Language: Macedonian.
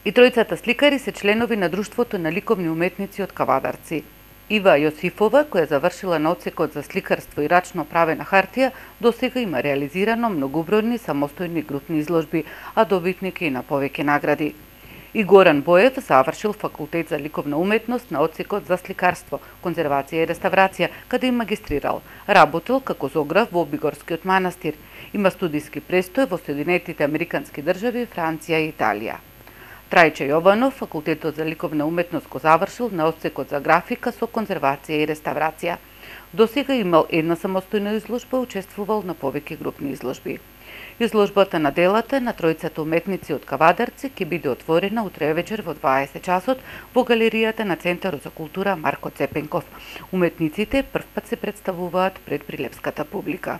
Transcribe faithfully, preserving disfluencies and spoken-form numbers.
И тројцата сликари се членови на Друштвото на ликовни уметници од Кавадарци. Ива Јосифова, која завршила на одсекот за сликарство и рачно правена хартија, досега има реализирано многобројни самостојни групни изложби, а добитник е и на повеќе награди. И Горан Боев завршил факултет за ликовна уметност на одсекот за сликарство, конзервација и реставрација, каде и магистрирал. Работел како зограф во Обигорскиот манастир. Има студиски престој во Соединетите Американски држави, Франција и Италија. Трајче Јованов, факултетот за ликовна уметност го завршил на одсекот за графика со конзервација и реставрација. Досега имал една самостојна изложба, учествувал на повеќе групни изложби. Изложбата на делата на тројцата уметници од Кавадарци ќе биде отворена утре вечер во дваесет часот во галеријата на Центарот за култура Марко Цепенков. Уметниците првпат се представуваат пред прилепската публика.